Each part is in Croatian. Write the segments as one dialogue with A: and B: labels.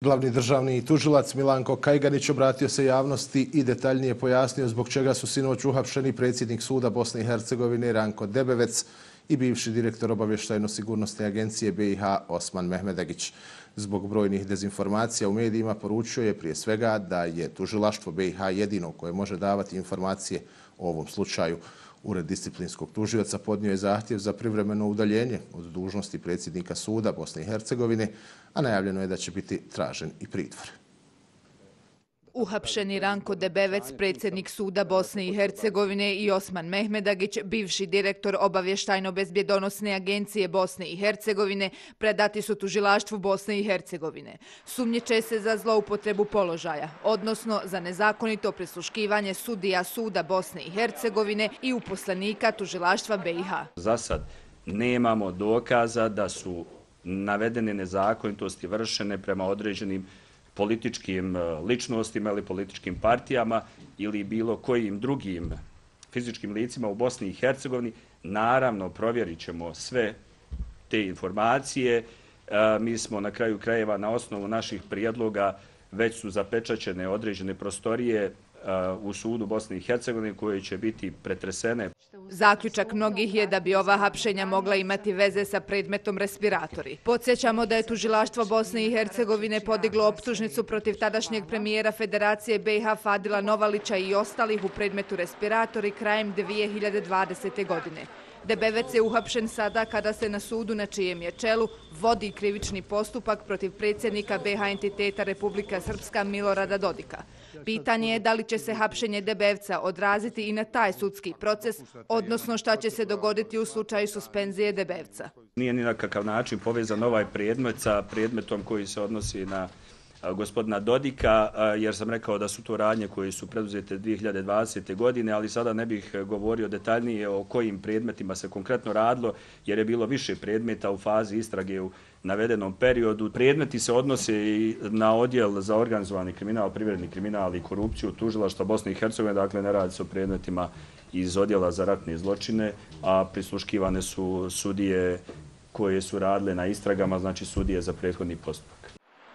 A: Glavni državni tužilac Milanko Kajganić obratio se javnosti i detaljnije pojasnio zbog čega su sinoć uhapšeni predsjednik suda Bosne i Hercegovine Ranko Debevec i bivši direktor obavještajno-sigurnosne agencije BiH Osman Mehmedagić. Zbog brojnih dezinformacija u medijima poručio je prije svega da je tužilaštvo BiH jedino koje može davati informacije o ovom slučaju. Ured disciplinskog tužioca podnio je zahtjev za privremeno udaljenje od dužnosti predsjednika suda Bosne i Hercegovine, a najavljeno je da će biti tražen i pritvor.
B: Uhapšeni Ranko Debevec, predsjednik suda Bosne i Hercegovine, i Osman Mehmedagić, bivši direktor obavještajno-bezbjedonosne agencije Bosne i Hercegovine, predati su tužilaštvu Bosne i Hercegovine. Sumnjiče se za zloupotrebu položaja, odnosno za nezakonito prisluškivanje sudija suda Bosne i Hercegovine i uposlenika tužilaštva BiH.
C: Za sad nemamo dokaza da su navedene nezakonitosti vršene prema određenim političkim ličnostima ili političkim partijama ili bilo kojim drugim fizičkim licima u Bosni i Hercegovini. Naravno, provjerit ćemo sve te informacije. Mi smo na kraju krajeva na osnovu naših prijedloga već su zapečaćene određene prostorije u sudu Bosne i Hercegovine koje će biti pretresene.
B: Zaključak mnogih je da bi ova hapšenja mogla imati veze sa predmetom respiratori. Podsjećamo da je tužilaštvo Bosne i Hercegovine podiglo optužnicu protiv tadašnjeg premijera Federacije BiH Fadila Novalića i ostalih u predmetu respiratori krajem 2020. godine. Debevec je uhapšen sada kada se na sudu na čijem je čelu vodi krivični postupak protiv predsjednika BiH entiteta Republika Srpska Milorada Dodika. Pitanje je da li će se hapšenje Debevca odraziti i na taj sudski proces, odnosno šta će se dogoditi u slučaju suspenzije Debevca.
C: Nije ni na kakav način povezan ovaj predmet sa predmetom koji se odnosi na gospodina Dodika, jer sam rekao da su to radnje koje su preduzete 2020. godine, ali sada ne bih govorio detaljnije o kojim predmetima se konkretno radilo, jer je bilo više predmeta u fazi istrage u navedenom periodu. Predmeti se odnose i na odjel za organizovani kriminal, privredni kriminal i korupciju tužilaštva Bosne i Hercegovine, dakle ne radi se o predmetima iz odjela za ratne zločine, a prisluškivane su sudije koje su radile na istragama, znači sudije za prethodni postupak.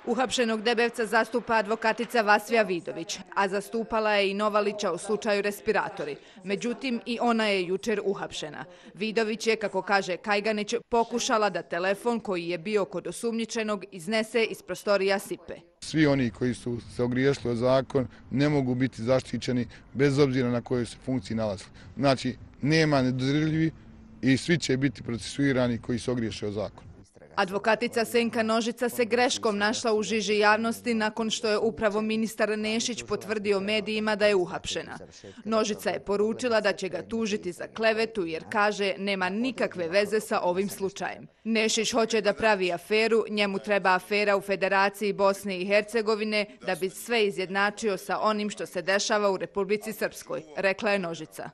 B: Uhapšenog Debevca zastupa advokatica Vasvija Vidović, a zastupala je i Novalića u slučaju respiratori. Međutim, i ona je jučer uhapšena. Vidović je, kako kaže Kajganić, pokušala da telefon koji je bio kod osumnjičenog iznese iz prostorija SIPE.
D: Svi oni koji su se ogriješili o zakon ne mogu biti zaštićeni bez obzira na kojoj se funkciji nalazili. Znači, nema nedodirljivi i svi će biti procesuirani koji se ogriješe o zakon.
B: Advokatica Senka Nožica se greškom našla u žiži javnosti nakon što je upravo ministar Nešić potvrdio medijima da je uhapšena. Nožica je poručila da će ga tužiti za klevetu jer kaže nema nikakve veze sa ovim slučajem. Nešić hoće da pravi aferu, njemu treba afera u Federaciji Bosne i Hercegovine da bi sve izjednačio sa onim što se dešava u Republici Srpskoj, rekla je Nožica.